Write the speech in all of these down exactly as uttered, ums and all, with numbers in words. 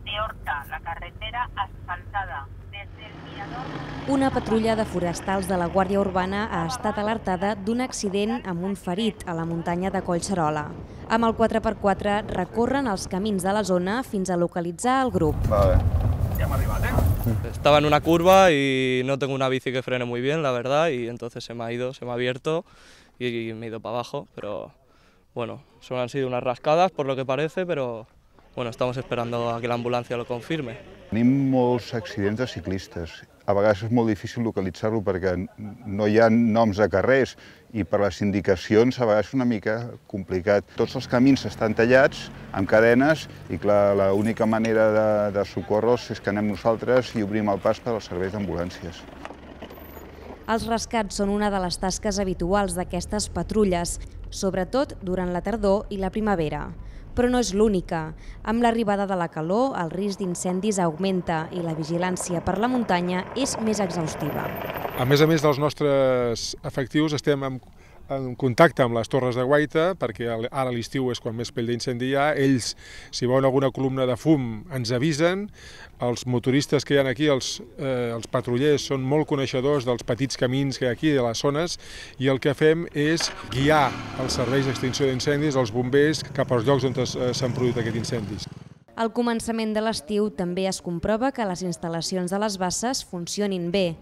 de Horta, la carretera asfaltada desde el mirador. Una patrulla de forestals de la Guàrdia Urbana ha estat alertada d'un accident amb un ferit a la muntanya de Collserola. Amb el quatre per quatre recorren els camins de la zona fins a localitzar el grup. Vale. Ya hemos arribado, ¿eh? Estaba en una curva y no tengo una bici que frene muy bien, la verdad, y entonces se me ha ido, se me ha abierto y me he ido para abajo, pero bueno, solo han sido unas rascadas por lo que parece, pero bueno, estamos esperando a que la ambulancia lo confirme. Tenim molts accidents de ciclistes. A vegades és molt difícil localitzar-lo perquè no hi ha noms de carrers i per les indicacions a vegades és una mica complicat. Tots els camins estan tallats amb cadenes i clar, l'única manera de, de socórrer-los és que anem nosaltres i obrim el pas per als serveis d'ambulàncies. Els rescats són una de les tasques habituals d'aquestes patrulles, sobretot durant la tardor i la primavera. Però no és l'única. Amb l'arribada de la calor, el risc d'incendis augmenta i la vigilància per la muntanya és més exhaustiva. A més a més dels nostres efectius, estem en, en contacte amb les torres de guaita, perquè ara a l'estiu és quan més pell d'incendi hi ha. Ells, si veuen alguna columna de fum, ens avisen. Els motoristes que hi ha aquí, els, eh, els patrullers, són molt coneixedors dels petits camins que hi ha aquí, de les zones, i el que fem és guiar els serveis d'extinció d'incendis, els bombers, cap als llocs on s'han produït aquests incendis. Al començament de l'estiu també es comprova que les instal·lacions de les basses funcionin bé.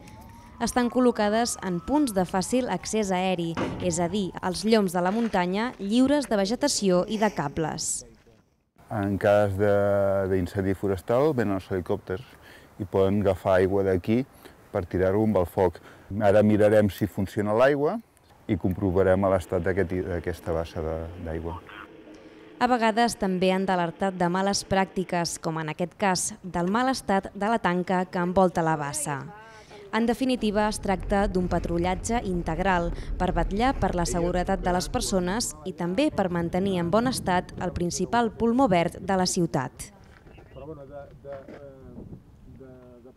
Estan col·locades en punts de fàcil accés aeri, és a dir, els lloms de la muntanya lliures de vegetació i de cables. En cas d'incendi forestal venen els helicòpters i poden agafar aigua d'aquí per tirar-ho amb el foc. Ara mirarem si funciona l'aigua i comprovarem l'estat d'aquesta bassa d'aigua. A vegades també han d'alertar de males pràctiques, com en aquest cas, del mal estat de la tanca que envolta la bassa. En definitiva, es tracta d'un patrullatge integral per vetllar per la seguretat de les persones i també per mantenir en bon estat el principal pulmó verd de la ciutat. Però, bueno, de, de, de, de